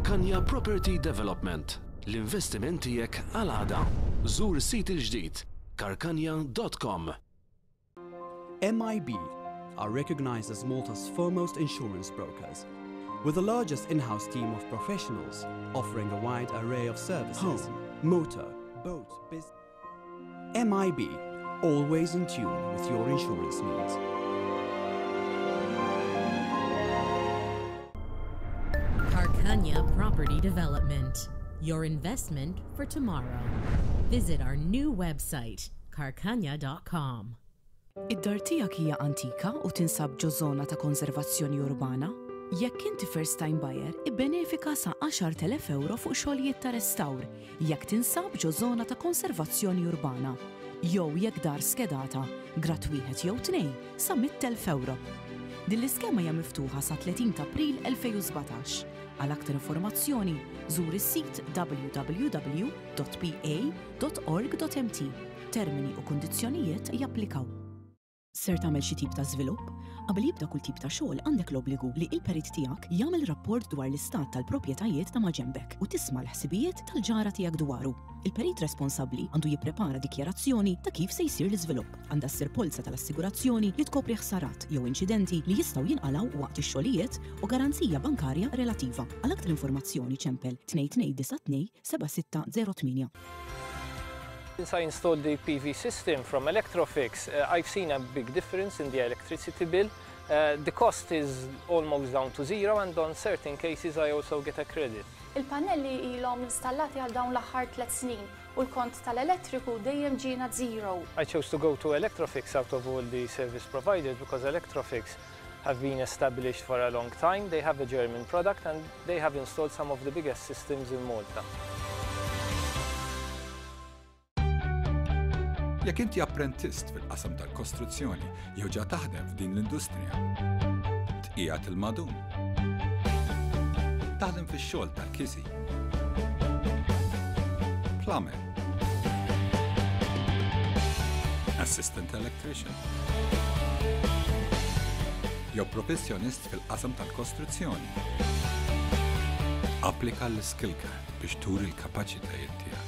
Karkanja Property Development, l-investiment tiegħek għal għada. Żur is-sit il-ġdid karkanja.com. MIB are recognized as Malta's foremost insurance brokers, with the largest in-house team of professionals offering a wide array of services, Home. motor, boat, business. MIB, always in tune with your insurance needs. Karkanja Property Development, your investment for tomorrow. Visit our new website, karkanja.com. Id-dar tiegħek hija antika u tinsab ġo żona ta' konservazzjoni urbana? Jekk inti first time buyer, ibbenefika sa 10,000 euro fuq xogħlijiet ta' restawr jekk tinsab ġo żona ta' konservazzjoni urbana. Jew jekk dar skedata, grad wieħed jew tnejn, sa 100,000 euro. Din l-iskema hija miftuħa sa 30 ta' April 2017. Għal aktar informazzjoni, żur is-sit www.pa.org.mt. Termini u kundizzjonijiet japplikaw. Ser tagħmel xi tip ta' żvilupp? Qabel jibda kull tip ta' xogħol għandek l-obbligu li il-perit tiegħek jagħmel rapport dwar l-istat tal-proprjetajiet ta' maġenbek u tisma' l-ħsibijiet tal-ġara tiegħek dwaru. Il-perit responsabbli għandu jipprepara dikjarazzjoni ta' kif se jsir l-iżvilupp. Għandha ssir polza tal-assigurazzjoni li tkopri ħsarat jew inċidenti li jistgħu jinqalgħu waqt ix-xogħlijiet u garanzija bankarja relattiva. Għal aktar informazzjoni ċempel 2292 7608. Since I installed the PV system from Electrofix, I've seen a big difference in the electricity bill. The cost is almost down to zero, and on certain cases I also get a credit. Il-pannelli ilhom installati għal dawn l-aħħar 3 snin u l-kont tal-elettriku dejjem ġiena zero. I chose to go to Electrofix out of all the service providers because Electrofix have been established for a long time. They have a German product and they have installed some of the biggest systems in Malta. Jekk inti apprentist fil-qasam tal-kostruzzjoni jew ġa taħdem f'din l-industrija, tqiegħed il-madum. Taħdem fix-xogħol tal-kisi. Plumber. Assistant electrician. Jew professjonist fil-qasam tal-kostruzzjoni. Applika l-skill card biex turi l-kapaċitajiet tiegħek.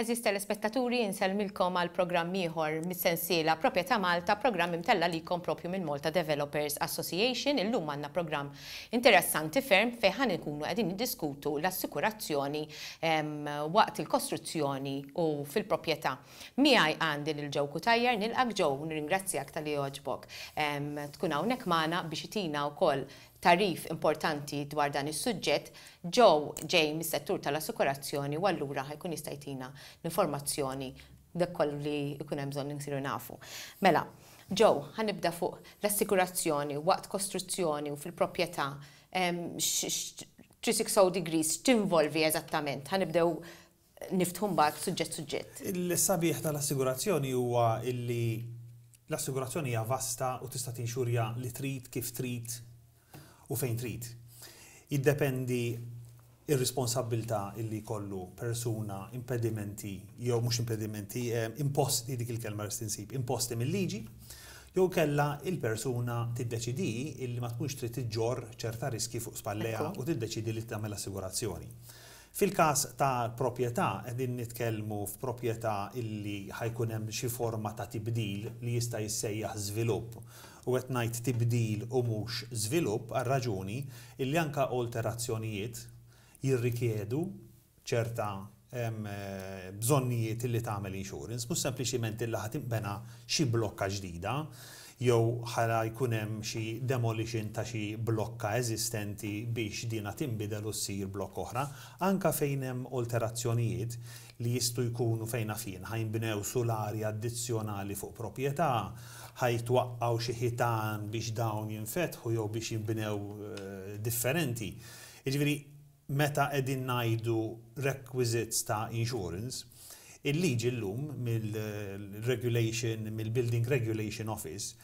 Għeżież telespettaturi, insellmilkom għal programm ieħor mis-sensiela Proprjetà Malta, programm imtella' likom propju minn Malta Developers Association. Illum għandna programm interessanti ferm fejn ħa nkunu qegħdin niddiskutu l-assikurazzjoni waqt il-kostruzzjoni u fil-proprjetà. Miegħi għandi lil Joe Cutajar, nilqak Joe u nirringrazzjak talli għoġbok tkun hawnhekk magħna biex itina wkoll tagħrif importanti dwar dan is-suġġett. Joe ġej mis-settur tal-assikurazzjoni u allura ħa jkun jista' jtina l-informazzjoni dak kollu li jkun hemm bżonn insiru nafu. Mela, Joe, ħa nibda fuq l-assikurazzjoni waqt kostruzzjoni u fil-proprjetà 360 degrees x'tinvolvi eżattament? Ħa nibdew niftħu mbagħad suġġett suġġett. Il-sabiħ tal-assigurazzjoni huwa illi l-assigurazzjoni hija vasta u tista' tinxurja li trid, kif trid u fejn trid. Jiddependi ir-responsabbiltà illi jkollu persuna impedimenti jew mhux impedimenti, imposti, dik il-kelma rrid insib, imposti mill-liġi, jew kella il-persuna tiddeċidi illi ma tkunx trid iġġorr ċerta riski fuq spallejha u tiddeċidi li tagħmel assigurazzjoni. Fil-każ ta' proprjetà qegħdin nitkellmu f'proprjetà illi ħa jkun hemm xi forma ta' tibdil li jista' jissejjaħ żvilupp. U qed ngħid tibdil u mhux żvilupp għar-raġuni illi anke alterazzjonijiet jirrikjedu ċerta bżonnijiet illi tagħmel insurance, mhux sempliċiment illi ħa tinbena xi blokka ġdida jew ħa jkun hemm xi demolition ta' xi blokka eżistenti biex dina tinbidel u ssir blokka oħra. Anka fejn hemm alterazzjonijiet li jistgħu jkunu fejn naf jien ħa jinbnew sulari addizzjonali fuq proprjetà, ħa jitwaqqgħu xi ħitan biex dawn jinfetħu jew biex jinbnew differenti. Jiġifieri meta qegħdin ngħidu requisites ta' insurance, il-liġi llum mill-regulation, mill-Building Regulation Office,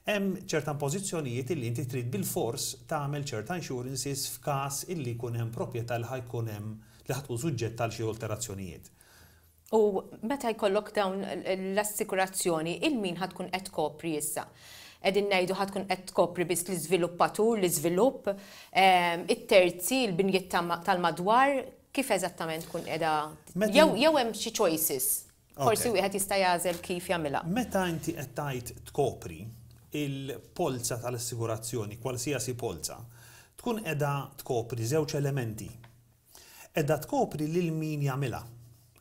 hemm ċerta impożizzjonijiet illi inti trid bilfors tagħmel ċerta insurances f'każ illi jkun hemm proprjetà li ħa jkun hemm li ħa tkun suġġetta għal xi alterazzjonijiet. U meta jkollok dawn l-assikurazzjoni, il min ħa tkun qed tkopri issa? Qegħdin ngħidu ħa tkun qed tkopri biss l-iżviluppatur, l-iżvilupp, it-terzi, il-binjiet tal-madwar, kif eżattament tkun qiegħda jew jew hemm xi choices? Forsi wieħed jista' jagħżel kif jagħmilha. Meta inti qed tgħid tkopri, il-polza tal-assigurazzjoni, qualsiasi polza, tkun qiegħda tkopri żewġ elementi. Qiegħda tkopri lil min jagħmilha,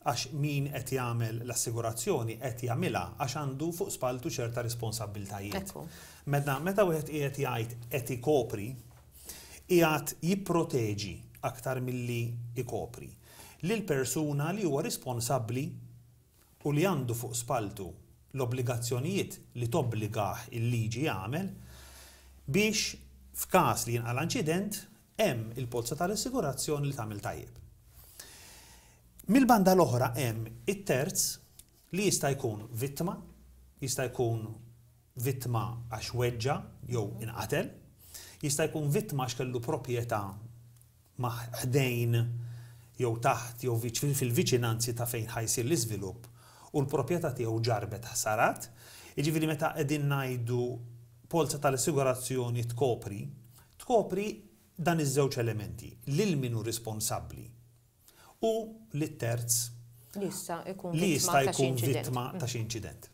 għax min qed jagħmel l-assigurazzjoni qed jagħmilha għax għandu fuq spalltu ċerta responsabbiltajiet. Meta meta wieħed qiegħed jgħid qed ikopri, qiegħed jipproteġi aktar milli jkopri lill-persuna li huwa responsabbli u li għandu fuq spalltu l-obbligazzjonijiet li tobbligah il-liġi jagħmel biex f'każ li jinqala' inċident hemm il-polza tal-assigurazzjoni li tagħmel tajjeb. Mill-banda l-oħra hemm it-terz li jista' jkun vittma, jista' jkun vittma għax weġġa' jew inqatel, jista' jkun vittma għax kellu proprjetà ma' ħdejn jew taħt jew fil-viċinanzi ta' fejn ħa jsir l-iżvilupp u l-proprjetà tiegħu ġarrbet ħsarat. Jiġifieri meta qegħdin ngħidu polza tal-assigurazzjoni tkopri, tkopri dan iż-żewġ elementi, lil min hu responsabbli u lit-terz li jista' jkun li jista' jkun vittma ta' xi inċident.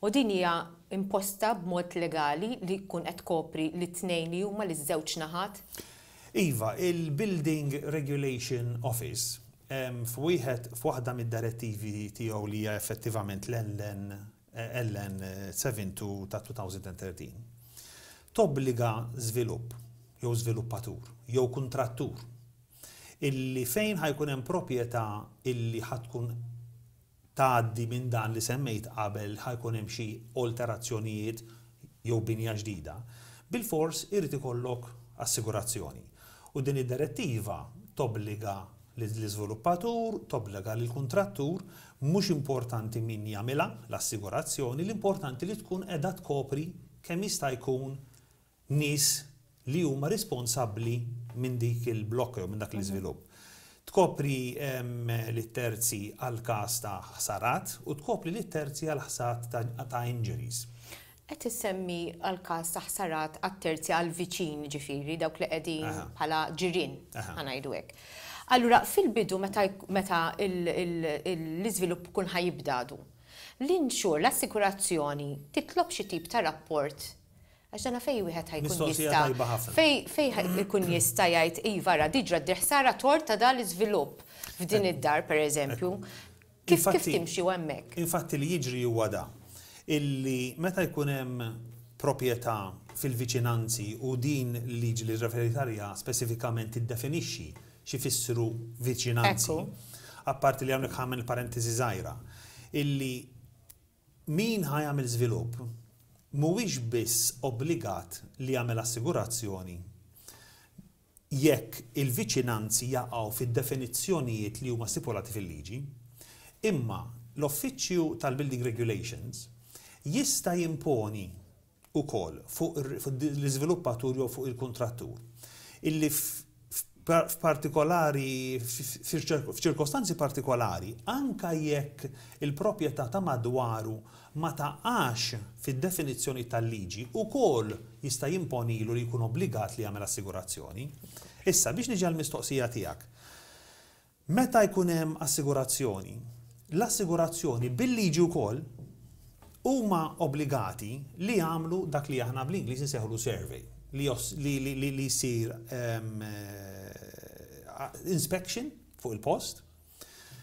U din hija imposta b'mod legali li tkun qed tkopri lit-tnejn li huma liż-żewġ naħat? Iva, il-Building Regulation Office f'wieħed f'waħda mid-direttivi tiegħu li hija effettivament l-LN LN 72 ta' 2013, tobbliga żvilupp jew żviluppatur jew kuntrattur illi fejn ħa jkun hemm proprjetà illi ħa tkun tgħaddi minn dan li semmejt qabel ħa jkun hemm xi olterazzjonijiet jew binja ġdida, bilfors irid ikollok assigurazzjoni. U din id-direttiva tobbliga lill-iżviluppatur, tobbliga lill-kuntrattur, mhux importanti min jagħmilha l-assigurazzjoni, l-importanti li tkun qiegħda tkopri kemm jista' jkun nies li huma responsabbli minn dik il-blokka jew minn dak l-iżvilupp. Tkopri lit-terzi għal każ ta' ħsarat u tkopri lit-terzi għal ħsat ta' injuries. Qed issemmi għal każ ta' ħsarat għat-terzi għall-viċin ġifieri dawk li qegħdin bħala ġirien ħa ngħidu hekk. Allura fil-bidu meta meta l-iżvilupp ikun ħa jibda għadu, l-insure, l-assikurazzjoni titlob xi tip ta' rapport għax dana fejn wieħed ħa jkun jista' fejn fejn ikun jista' jgħid iva ara di ġrat di ħsara tort ta' dan l-iżvilupp f'din id-dar pereżempju. Kif kif timxi hemmhekk? Infatti li jiġri huwa da, illi meta jkun hemm proprjetà fil-viċinanzi u din il-liġi li rreferit għaliha spesifikament tiddefinixxi x'ifissru viċinanzi, apparti li hawnhekk ħa nagħmel parentesi żgħira, illi min ħa jagħmel żvilupp mhuwiex biss obbligat li jagħmel assigurazzjoni jekk il-viċinanzi jaqgħu fid-definizzjonijiet li huma stipulati fil-liġi, imma l-Uffiċċju tal-Building Regulations jista' jimponi wkoll fuq l-iżviluppatur jew fuq il-kuntrattur illi f'partikolari f'ċirkostanzi partikolari anke jekk il-proprjetà ta' madwaru ma taqax fid-definizzjoni tal-liġi, ukoll jista' jimponilu li jkun obbligat li jagħmel assigurazzjoni. Issa, biex niġi għall-mistoqsija tiegħek. Meta jkun hemm assigurazzjoni, l-assigurazzjoni bil-liġi wkoll huma obbligati li jagħmlu dak li aħna bl-Ingliż insejħulu survey, li li jsir inspection fuq il-post,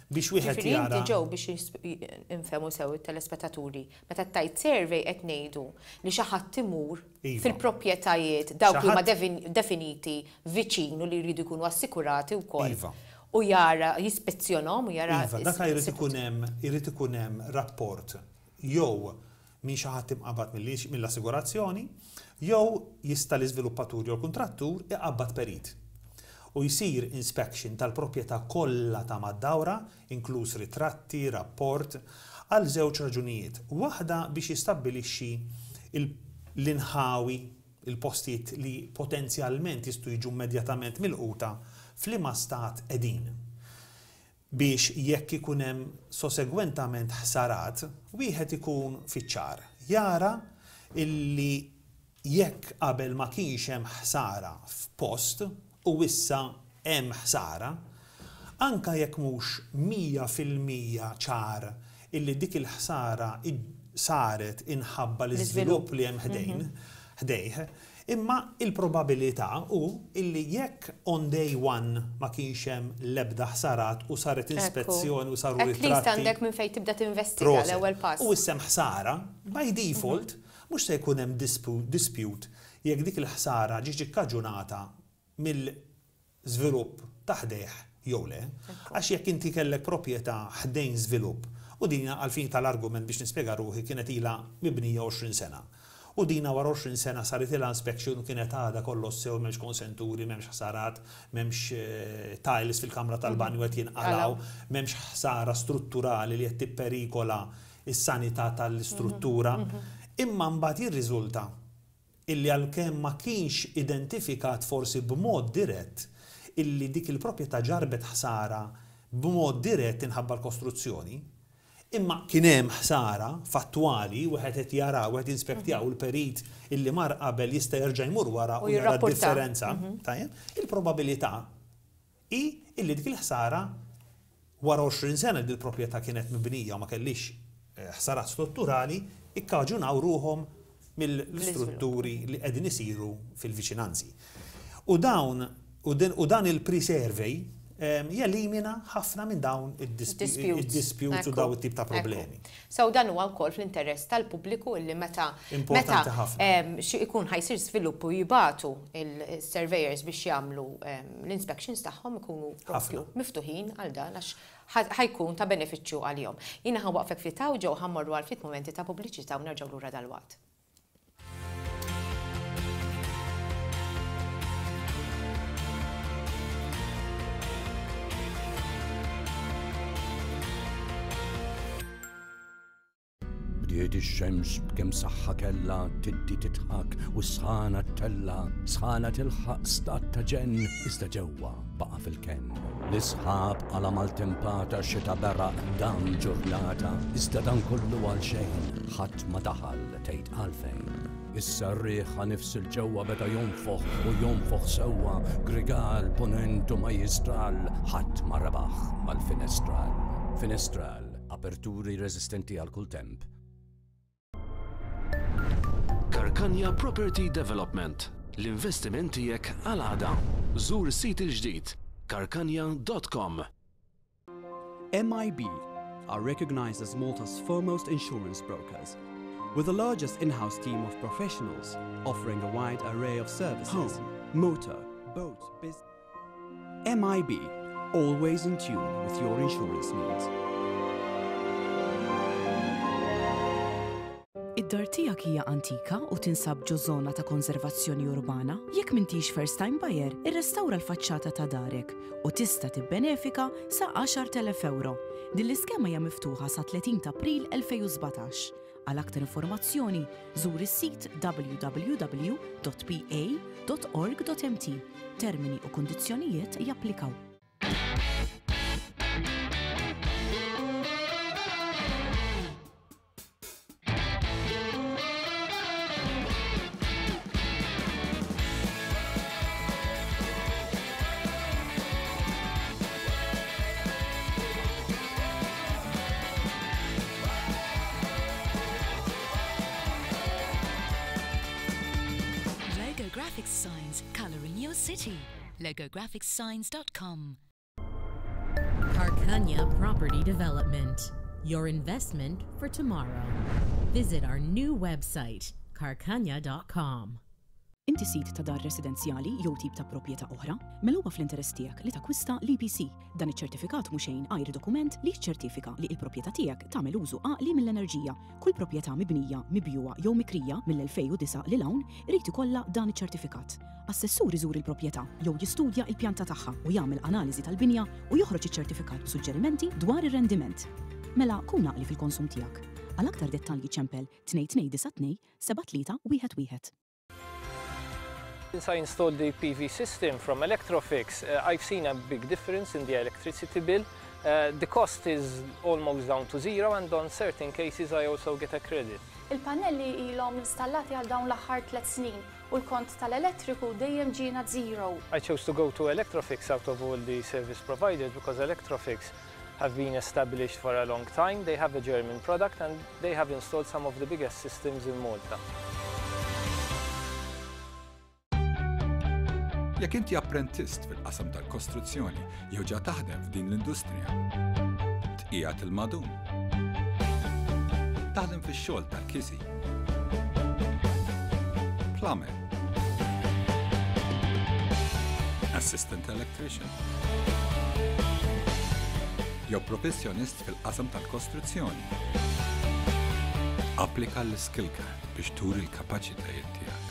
biex wieħed Ġifieri jara. inti ġew biex infehmu sew it-telespettaturi, meta tgħid survey qed ngħidu li xi ħadd imur fil-proprjetajiet dawk li huma definiti viċin u li jridu jkunu assikurati wkoll. U jara, jispezzjonhom u jara. Iva, dak jrid ikun hemm, irid ikun hemm rapport jew minn xi ħadd imqabbad mill-assigurazzjoni, jew jista' l-iżviluppatur jew l-kuntrattur iqabbad perit. U jsir inspection tal-proprjetà kollha ta' mad-dawra, inkluż ritratti, rapport, għal żewġ raġunijiet. Waħda biex jistabbilixxi l-inħawi, il-postijiet li potenzjalment jistgħu jiġu immedjatament milquta f'liema stat qegħdin. Biex jekk ikun hemm sosegwentament ħsarat, wieħed ikun fiċ-ċar. Jara illi jekk qabel ma kienx hemm ħsara f'post u issa hemm ħsara, anke jekk mhux 100% ċar illi dik il-ħsara saret inħabba l-iżvilupp li hemm ħdejn, ħdejh, imma il-probabilità hu illi jekk on day one ma kienx hemm l-ebda ħsarat u saret inspezzjoni u saru ritratti. At least għandek minn fejn tibda tinvestiga l-ewwel pass. U issa hemm ħsara, by default, mhux se jkun hemm dispute jekk dik il-ħsara ġietx ikkaġunata mill-żvilupp ta' ħdejh jew le. Għax jekk inti kellek proprjetà ħdejn żvilupp, u din għall-fini tal-argument biex nispjega ruħi kienet ilha mibnija 20 sena, u dina wara 20 sena saritilha inspection u kienet għadha kollox sew, m'hemmx konsenturi, m'hemmx ħsarat, m'hemmx tiles fil-kamra tal-banju qed jinqalgħu, m'hemmx ħsara strutturali li qed tipperikola s-sanità tal-istruttura, imma mbagħad jirriżulta illi għalkemm ma kienx identifikat forsi b'mod dirett illi dik il-proprjetà ġarrbet ħsara b'mod dirett inħabba l-kostruzzjoni, imma kien hemm ħsara fattwali, wieħed qed jara, wieħed jinspektja u l-perit illi mar qabel jista' jerġa' jmur wara u jara d-differenza, tajjeb, il-probabilità hi illi dik il-ħsara wara 20 sena li l-proprjetà kienet mibnija u ma kellhiex ħsarat strutturali, ikkaġunaw ruħhom mill-istrutturi li qegħdin isiru fil-viċinanzi. U dawn u dan il-pre-survey jelimina ħafna minn dawn id-disputes u dawn it-tip ta' problemi. So dan huwa wkoll fl-interess tal-pubbliku illi meta meta xi ikun ħa jsir żvilupp u jibagħtu il-surveyors biex jagħmlu l-inspections tagħhom ikunu propju miftuħin għal dan għax ħa jkun ta' benefiċċju għalihom. Jiena ħa nwaqqfek ftit hawn ġew ħa mmorru għal ftit mumenti ta' pubbliċità u nerġgħu lura dalwaqt. Bdiet ix-xemx b'kemm saħħa kellha tiddi tidħak u s-sħana ttella', sħana tilħaq stat ta' ġenn iżda ġewwa baqa' fil-kenn. L-isħab qala' maltempata xita beraq dam ġurnata iżda dan kollu għal xejn ħadd ma daħal tgħid għalfejn. Issa r-riħ ħa nifs 'il ġewwa beda jonfoħ u jonfoħ sewwa grigal punent u majjistral ħadd ma rebaħ mal-finestral. Finestral, aperturi reżistenti għal kull temp. Karkanja Property Development, l-investiment tiegħek għal għada. Żur is-sit il-ġdid karkanja.com. MIB are recognized as Malta's foremost insurance brokers, with the largest in-house team of professionals offering a wide array of services. Home, motor, boat, business. MIB, always in tune with your insurance needs. Id-dar tiegħek hija antika u tinsab ġo żona ta' konservazzjoni urbana? Jekk m'intix first time buyer, irrestawra l-faċċata ta' darek u tista' tibbenefika sa 10,000 ewro. Din l-iskema hija miftuħa sa 30 ta' April 2017. Għal aktar informazzjoni, żur is-sit www.pa.org.mt. Termini u kundizzjonijiet japplikaw. Logo Graphics Signs, colouring your city. LogoGraphicsSigns.com. Karkanja Property Development, your investment for tomorrow. Visit our new website, karkanja.com. Inti sid ta' dar residenzjali jew tip ta' proprjetà oħra? Mela huwa fl-interess tiegħek li takkwista l-EPC. Dan iċ-ċertifikat mhu xejn għajr dokument li jiċċertifika li l-proprjetà tiegħek tagħmel użu għaqli mill-enerġija. Kull proprjetà mibnija, mibjugħa jew mikrija mill-2009 lil hawn irid ikollha dan iċ-ċertifikat. Assessur iżur il-proprjetà jew jistudja l-pjanta tagħha u jagħmel analiżi tal-binja u joħroġ iċ-ċertifikat b'suġġerimenti dwar ir-rendiment. Mela kun għaqli fil-konsum tiegħek. Għal aktar dettalji ċempel 2292 7311. Since I installed the PV system from Electrofix, I've seen a big difference in the electricity bill. The cost is almost down to zero and on certain cases I also get a credit. Il-pannelli ilhom installati għal dawn l-aħħar tliet snin u l-kont tal-elettriku dejjem ġiena zero. I chose to go to Electrofix out of all the service providers because Electrofix have been established for a long time, they have a German product and they have installed some of the biggest systems in Malta. Jekk inti apprentist fil-qasam tal-kostruzzjoni jew ġa taħdem f'din l-industrija, tqiegħed il-madum. Taħdem fix-xogħol tal-kisi. Plumber. Assistant electrician. Jew professjonist fil-qasam tal-kostruzzjoni. Applika l-Skill Card biex turi l-kapaċitajiet tiegħek.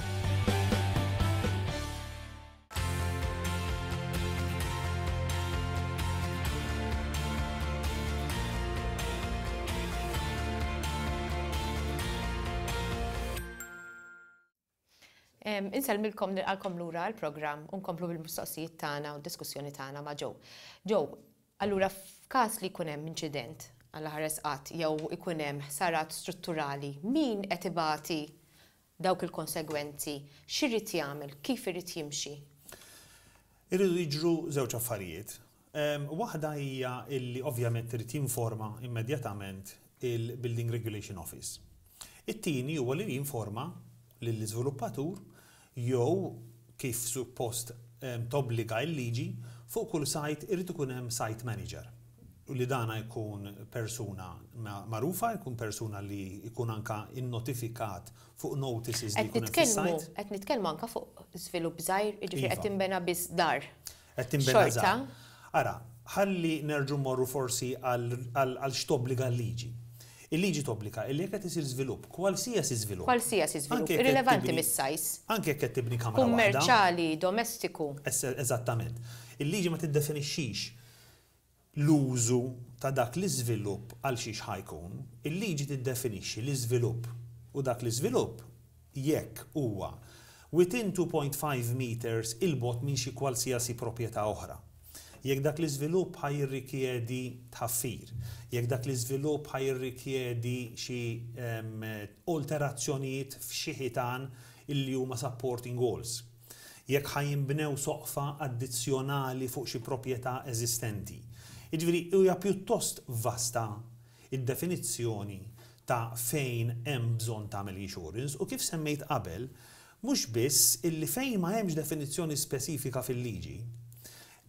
Insellmilkom nilqalkom lura għall-programm u nkomplu bil-mistoqsijiet tagħna u d-diskussjoni tagħna ma' Joe. Joe, allura f'każ li jkun hemm inċident Alla ħares qatt jew ikun hemm ħsarat strutturali, min qed ibati dawk il-konsegwenzi, x'irid jagħmel, kif irid jimxi? Iridu jiġru żewġ affarijiet. Waħda hija illi ovvjament irid jinforma immedjatament il-Building Regulation Office. It-tieni huwa li jinforma lill-iżviluppatur jew kif suppost tobbliga l-liġi, fuq kull site irid ikun hemm site manager. U li dana jkun persuna magħrufa, jkun persuna li jkun anka innotifikat fuq notices li jkun hemm fis-site. Qed nitkellmu anka fuq żvilupp żgħir, jiġifieri qed tinbena biss dar. Qed tinbena żgħar. Ara, ħalli nerġgħu mmorru forsi għal x'tobbliga l-liġi. Il-liġi tobbliga illi jekk qed isir żvilupp, kwalsiasi żvilupp. Kwalsiasi żvilupp, irrilevanti mis-size. Anke jekk qed tibni kamra waħda. Kummerċjali, domestiku. Eżattament. Il-liġi ma tiddefinixxix l-użu ta' dak l-iżvilupp għal xiex ħa jkun. Il-liġi tiddefinixxi l-iżvilupp u dak l-iżvilupp jekk huwa within 2.5 metres 'il bogħod minn xi kwalsiasi proprjetà oħra. Jekk dak l-iżvilupp ħa jirrikjedi tħaffir, jekk dak l-iżvilupp ħa jirrikjedi xi alterazzjonijiet f'xi ħitan illi huma supporting walls, jekk ħa jinbnew soqfa addizzjonali fuq xi proprjetà eżistenti. Jiġifieri hija pjuttost vasta id-definizzjoni ta' fejn hemm bżonn tagħmel insurance u kif semmejt qabel, mhux biss illi fejn ma hemmx definizzjoni spesifika fil-liġi,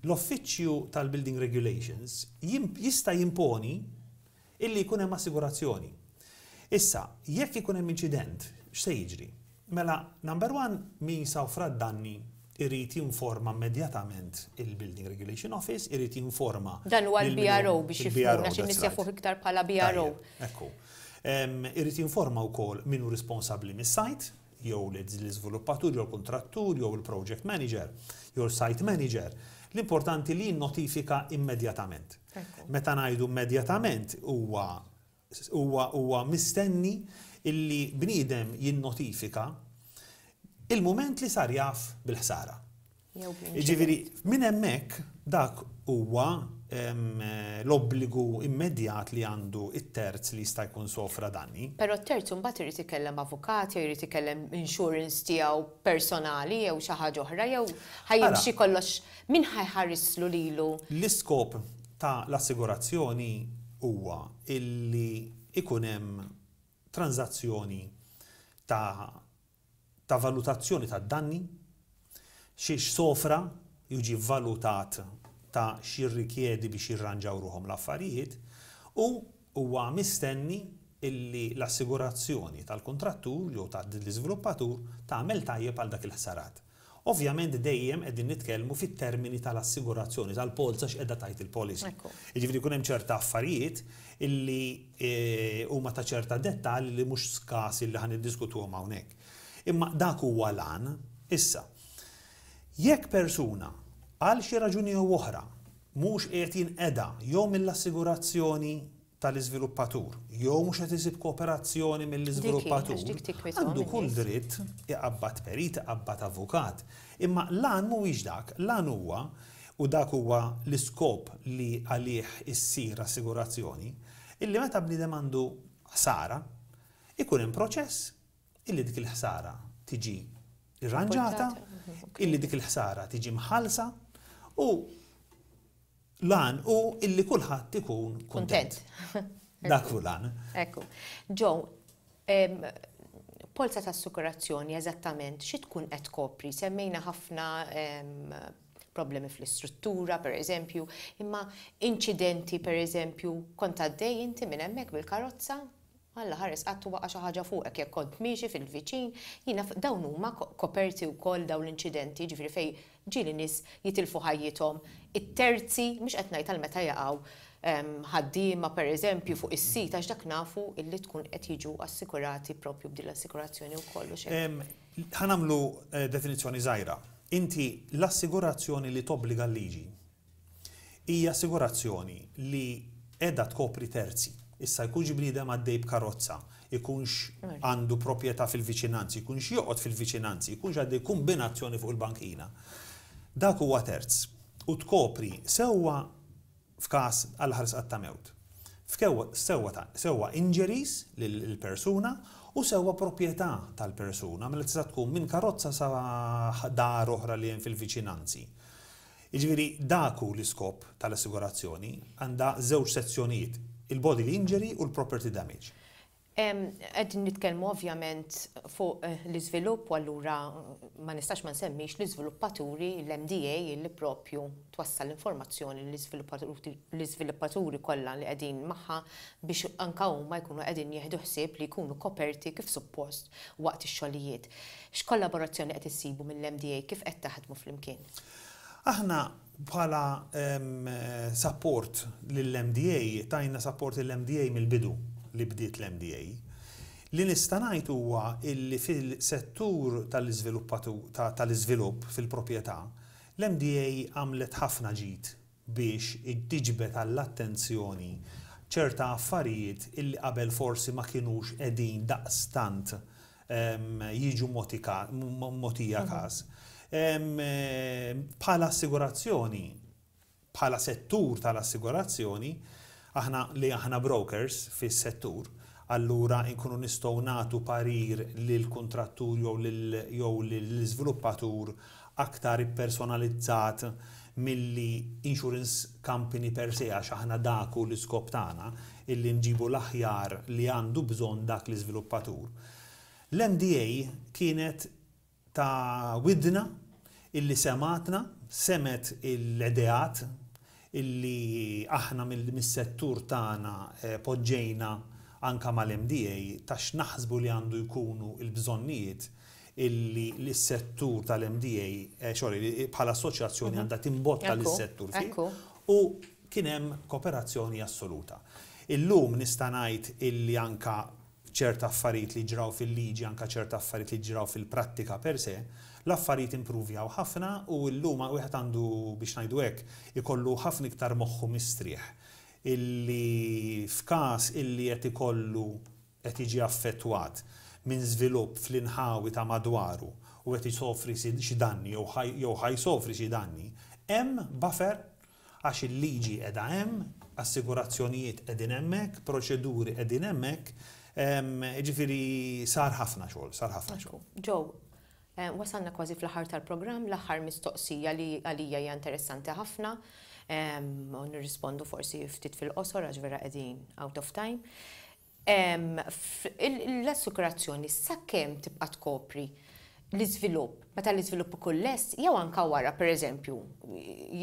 l-Uffiċċju tal-Building Regulations jista' jimponi illi jkun hemm assigurazzjoni. Issa, jekk ikun hemm inċident, x'se jiġri? Mela, number one, min sofra d-danni irid jinforma immedjatament il-Building Regulation Office, irid jinforma. Dan huwa l-BRO biex jifhmuna xi nies jafuh iktar bħala BRO. Ekku. Irid jinforma wkoll min hu responsabbli mis-site, jew l-iżviluppatur, jew l-kuntrattur, jew il-project manager, jew il-site manager. L-importanti li jinnotifika immedjatament. Meta ngħidu immedjatament huwa Huwa huwa mistenni illi bniedem jinnotifika il-mument li sar jaf bil-ħsara. Jiġifieri minn hemmhekk dak huwa l-obbligu immedjat li għandu t-terz li jista' jkun sofra danni. Però t-terz imbagħad irid ikellem avukat jew irid ikellem insurance tiegħu personali jew xi ħaġa oħra jew ħa jimxi kollox Min ħa jħarislu lilu? L-iskop ta' l-assigurazzjoni huwa illi ikun hemm tranżazzjoni ta' ta' valutazzjoni tad-danni, xiex sofra jiġi vvalutat ta' x'jirrikjedi biex jirranġaw ruħhom l-affarijiet u huwa mistenni. illi l-assigurazzjoni tal-kuntrattur jew ta' l-iżviluppatur tagħmel tajjeb għal dak il-ħsarat. Ovvjament dejjem qegħdin nitkellmu fit-termini tal-assigurazzjoni, tal-polza x'qiegħda tgħid il-policy. Jiġifieri jkun hemm ċerta affarijiet illi huma ta' ċerta dettall li mhux skas illi ħa niddiskutuhom hawnhekk. Imma dak huwa l-għan. Issa, jekk persuna għal xi raġuni jew oħra mhux qiegħed jinqeda jew mill-assigurazzjoni tal-iżviluppatur jew mhux qed isib kooperazzjoni mill-iżviluppatur, għandu kull dritt iqabbad perit, iqabbad avukat. Imma l-għan mhuwiex dak, l-għan huwa, u dak huwa l-iskop li għalih issir assigurazzjoni, illi meta bniedem għandu ħsara, ikun hemm proċess illi dik il-ħsara tiġi rranġata, illi dik il-ħsara tiġi mħallsa u L-għan hu illi kulħadd ikun kuntent. Dak hu l-għan. Ekku. Joe, polza ta' assikurazzjoni eżattament xi tkun qed tkopri? Semmejna ħafna problemi fl-istruttura, per eżempju, imma inċidenti, per eżempju, kont għaddej inti minn hemmhekk bil-karozza, Alla ħares qatt waqa' xi ħaġa fuqek jekk kont miexi fil-viċin, jien naf dawn huma koperti wkoll dawn l-inċidenti, jiġifieri fejn ġieli nies jitilfu ħajjithom, it-terzi, mhux qed ngħid għal meta jaqgħu ħaddiema pereżempju fuq is-sit għax dak nafu illi tkun qed jiġu assikurati propju b'din l-assikurazzjoni wkoll hux hekk? Ħa nagħmlu definizzjoni żgħira. Inti l-assigurazzjoni li tobbliga l-liġi Hija assigurazzjoni li qiegħda tkopri terzi. Issa jkunx bniedem għaddej b'karozza, ikunx għandu proprjetà fil-viċinanzi, ikunx joqgħod fil-viċinanzi, ikunx għaddej kumbinazzjoni fuq il-bankina. Dak huwa terz. U tkopri sewwa f'każ għal ħarsqat ta' mewt. Sewwa ta' sewwa injuries lill-persuna u sewwa proprjetà tal-persuna, mela tista' tkun minn karozza sa dar oħra li hemm fil-viċinanzi. Jiġifieri dak hu l-iskop tal-assigurazzjoni, għandha żewġ sezzjonijiet, il-bodily injury u l-property damage. Qegħdin nitkellmu ovvjament fuq l-iżvilupp u allura ma nistax ma nsemmix l-iżviluppaturi, l-MDA li propju twassal l-informazzjoni lill-iżviluppaturi kollha li qegħdin magħha biex anke huma jkunu qegħdin jieħdu ħsieb li jkunu koperti kif suppost waqt ix-xogħlijiet. X'kollaborazzjoni qed issibu mill-MDA, kif qed taħdmu flimkien? Aħna bħala sapport lill-MDA, tajna sapport lill-MDA mill-bidu li bdiet l-MDA. Li nista' ngħid huwa illi fil-settur tal-iżvilupp fil-proprjetà, l-MDA għamlet ħafna ġid biex tiġbed għall-attenzjoni ċerta affarijiet illi qabel forsi ma kinux qegħdin daqstant jiġu mogħtija każ. Bħala assigurazzjoni, bħala settur tal-assigurazzjoni, aħna li aħna brokers fis-settur, allura nkunu nistgħu nagħtu parir lill-kuntrattur jew lill-iżviluppatur aktar ippersonalizzat milli insurance company per se għax aħna dak hu l-iskop tagħna, illi nġibu l-aħjar li għandu bżonn dak l-iżviluppatur. L-MDA kienet ta' widna illi semgħetna, semgħet l-ideat illi aħna mis-settur tagħna poġġejna anke mal-MDA ta' x'naħsbu li għandu jkunu l-bżonnijiet illi s-settur tal-MDA, sorry, bħala assoċjazzjoni għandha timbotta lis-settur fih u kien hemm kooperazzjoni assoluta. Illum nista' ngħid illi anke ċerta affarijiet li ġraw fil-liġi, anke ċerta affarijiet li ġraw fil-prattika per se, l-affarijiet impruvjaw ħafna u llum wieħed għandu, biex ngħidu hekk, ikollu ħafna iktar moħħu mistrieħ illi f'każ illi qed ikollu qed jiġi affettwat minn żvilupp fl-inħawi ta' madwaru u qed isofri xi danni jew ħa jsofri xi danni, hemm buffer Għax il-liġi qiegħda hemm, assigurazzjonijiet qegħdin hemmhekk, proċeduri qegħdin hemmhekk, jiġifieri sar ħafna xogħol, sar ħafna xogħol. Joe, wasalna kważi fl-aħħar tal-programm, l-aħħar mistoqsija li għalija hija interessanti ħafna, u nirrispondu forsi ftit fil-qosor għax vera qegħdin out of time. L-assikurazzjoni sakemm tibqa' tkopri l-iżvilupp, meta l-iżvilupp ikun lest jew anke wara, pereżempju,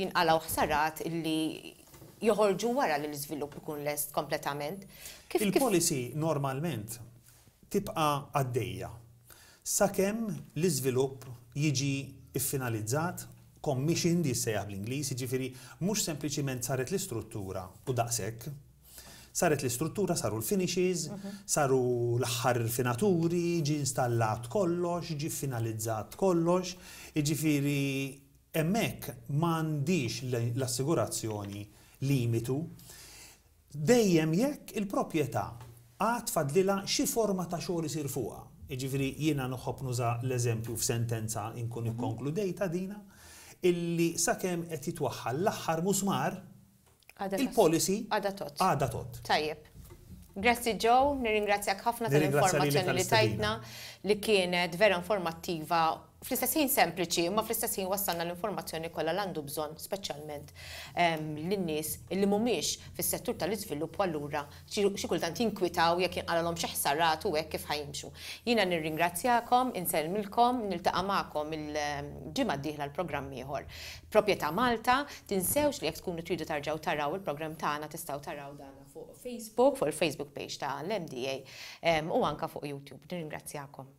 jinqalgħu ħsarat li joħorġu wara li l-iżvilupp ikun lest kompletament. Kif kif Il-policy normalment tibqa' għaddejja sakemm l-iżvilupp jiġi ffinalizzat, commissioned jissejjaħ bl-Ingliż, jiġifieri mhux sempliċiment saret l-istruttura u daqshekk. Saret l-istruttura, saru l-finishes, saru l-aħħar irfinaturi, ġie installat kollox, ġie ffinalizzat kollox, jiġifieri hemmhekk m'għandhiex l-assigurazzjoni limitu. Dejjem jekk il-proprjetà għad fadlilha xi forma ta' xogħol isir fuqha. Jiġifieri jiena nħobb nuża l-eżempju f'sentenza inkun ikkonkludejtha dina, illi sakemm qed jitwaħħal l-aħħar musmar, il-policy għadha tgħodd. Għadha tgħodd. Tajjeb. Grazzi Joe, nirringrazzjak ħafna tal-informazzjoni li tajtna li kienet vera informattiva, fl-istess ħin sempliċi, imma fl-istess ħin wassalna l-informazzjoni kollha li għandu bżonn speċjalment lin-nies li mhumiex fis-settur tal-iżvilupp u allura xi kultant jinkwitaw jekk jinqalgħulhom xi ħsarat u hekk kif ħa jimxu. Jiena nirringrazzjakom, insellmilkom, niltaqa' magħkom il-ġimgħa d-dieħla għal programm ieħor. Proprjetà Malta, tinsewx li jekk tkunu tridu tarġgħu taraw il-programm tagħna tistgħu taraw dan fuq Facebook, fuq il-Facebook page ta' l-MDA u anke fuq YouTube. Nirringrazzjakom.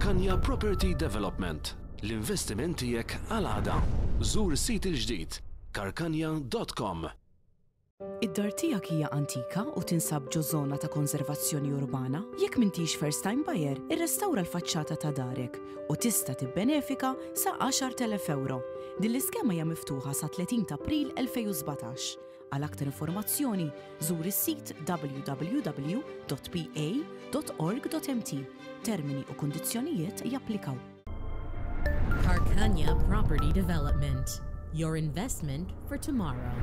Karkanja Property Development, l-investiment tiegħek għal għada. Żur is-sit il-ġdid karkanja.com. Id-dar tiegħek hija antika u tinsab ġo żona ta' konservazzjoni urbana? Jekk m'intix first time buyer, irrestawra l-faċċata ta' darek u tista' tibbenefika sa 10,000 ewro. Din l-iskema hija miftuħa sa 30 t'April 2017. Għal aktar informazzjoni, żur is-sit www.pa.org.mt. Termini u kundizzjonijiet japplikaw. Karkanja Property Development, your investment for tomorrow.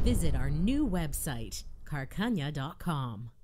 Visit our new website, karkanja.com.